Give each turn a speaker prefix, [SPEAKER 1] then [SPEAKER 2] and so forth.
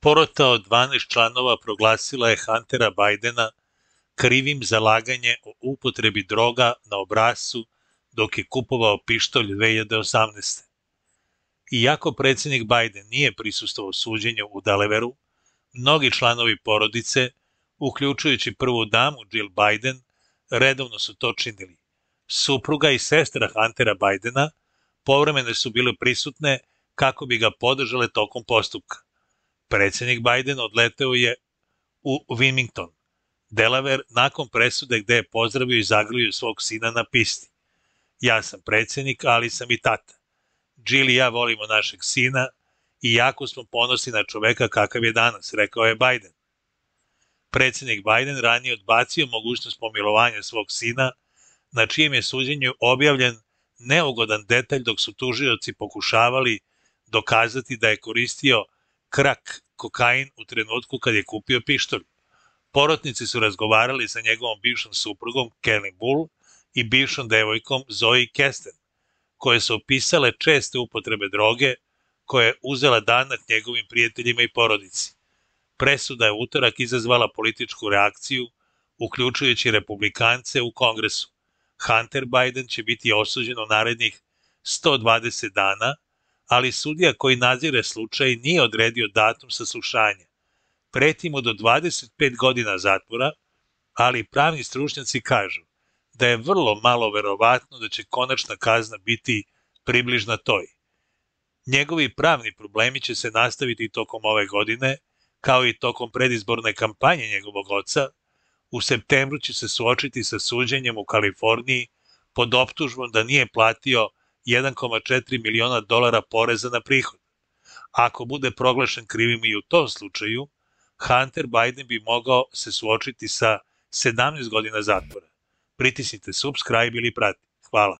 [SPEAKER 1] Porota od 12 članova proglasila je Huntera Bidena krivim za laganje o upotrebi droga na obrascu dok je kupovao pištolj 2018. Iako predsjednik Biden nije prisustvovao suđenju u Delawareu, mnogi članovi porodice, uključujući prvu damu Jill Biden, redovno su to činili. Supruga i sestra Huntera Bidena povremeno su bile prisutne kako bi ga podržale tokom postupka. Predsjednik Biden odleteo je u Wilmington, Delaware, nakon presude gde je pozdravio i zagrlio svog sina na pisti. Ja sam predsjednik, ali sam i tata. Jill i ja volimo našeg sina i jako smo ponosni na čoveka kakav je danas, rekao je Biden. Predsjednik Biden ranije odbacio mogućnost pomilovanja svog sina, na čijem je suđenju objavljen neugodan detalj dok su tužioci pokušavali dokazati da je koristio krak kokain u trenutku kad je kupio pištolj. Porotnici su razgovarali sa njegovom bivšom suprugom Kelly Bull i bivšom devojkom Zoe Kesten, koje su opisale česte upotrebe droge koje je uzela danak njegovim prijateljima i porodici. Presuda je utorak izazvala političku reakciju, uključujući republikance u Kongresu. Hunter Biden će biti osuđen u narednih 120 dana, ali sudija koji nadzire slučaj nije odredio datum saslušanja. Preti mu do 25 godina zatvora, ali pravni stručnjaci kažu da je vrlo malo verovatno da će konačna kazna biti približna toj. Njegovi pravni problemi će se nastaviti tokom ove godine, kao i tokom predizborne kampanje njegovog oca. U septembru će se suočiti sa suđenjem u Kaliforniji pod optužbom da nije platio 1,4 miliona dolara poreza na prihod. Ako bude proglašen krivim i u tom slučaju, Hunter Biden bi mogao se suočiti sa 17 godina zatvora. Pritisnite subscribe ili prati. Hvala.